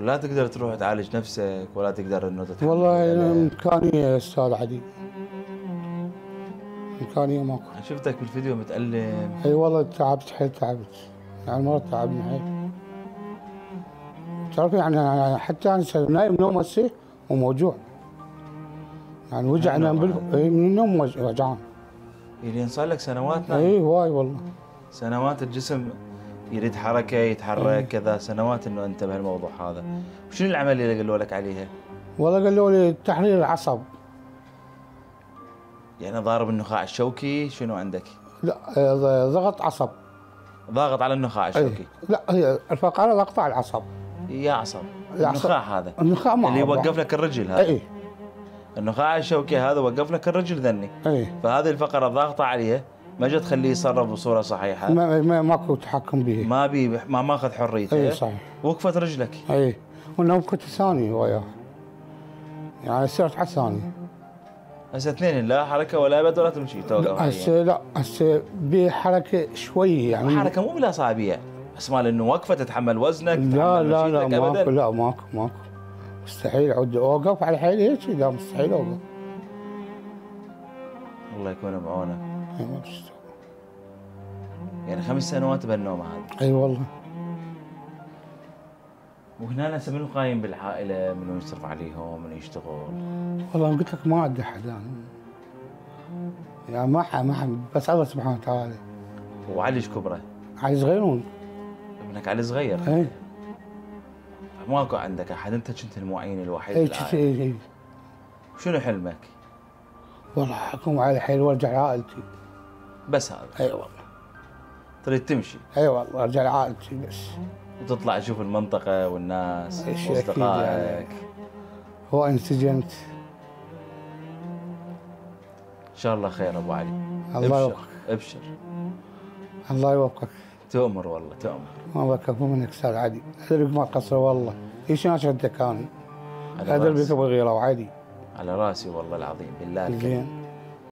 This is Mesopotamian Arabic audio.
لا تقدر تروح تعالج نفسك ولا تقدر انه تتحمل والله امكانيه يا استاذ علي، امكانيه ماكو. شفتك بالفيديو متألم. اي والله تعبت حيل، تعبت يعني المرض تعبني حيل. تعرف يعني حتى انا نايم نوم هسه وموجوع، يعني وجعنا من النوم وجعان. يعني صار لك سنوات نايم؟ اي واي والله سنوات الجسم يريد حركه يتحرك كذا، سنوات انه انت بهالموضوع هذا. وشنو العمليه اللي قالوا لك عليها؟ والله قالوا لي تحرير العصب. يعني ضارب النخاع الشوكي، شنو عندك؟ لا ضغط عصب. ضاغط على النخاع الشوكي؟ لا هي الفقره ضغط على العصب. يا عصب النخاع هذا النخاع اللي يوقف لك الرجل هذا. اي النخاع الشوكي هذا وقف لك الرجل ذني. اي فهذه الفقره ضاغطه عليه، ما جت تخليه يتصرف بصوره صحيحه. ماكو تحكم به. ما ماخذ حريته. اي صحيح. وقفت رجلك. اي والنوم كنت ثاني وياه، يعني صرت على الثاني. هسه اثنين لا حركه ولا ابد ولا تمشي توقف. هسه لا هسه بحركه شوي يعني. حركه مو بالاصابع، بس مال انه وقفه تتحمل وزنك. لا لا لا ماكو، لا ماكو مستحيل اعود اوقف على حيلي هيك، لا مستحيل اوقف. الله يكون بعونك. يعني 5 سنوات بهالنوم هذا. اي والله. وهنا هسه منو قايم بالعائله؟ منو يصرف عليهم؟ منو يشتغل؟ والله قلت لك ما عندي حدا يعني، ما بس الله سبحانه وتعالى. وعلي ايش كبره؟ علي صغيرون. ابنك علي صغير؟ اي. ماكو عندك احد، انت كنت المعين الوحيد بالعائله. اي. شنو حلمك؟ والله اقوم على حيل وارجع لعائلتي. بس هذا؟ اي والله. تريد تمشي؟ اي والله ارجع لعائلتي بس. وتطلع تشوف المنطقة والناس واصدقائك. هو انسجنت. ان شاء الله خير ابو علي. الله يوفقك. ابشر. الله يوفقك. تؤمر والله تؤمر. الله يكفو منك استاذ علي، ادرك ما قصر والله، ايش انا شفتك انا. ادري بك ابو الغيره وعلي. على راسي والله العظيم بالله. زين.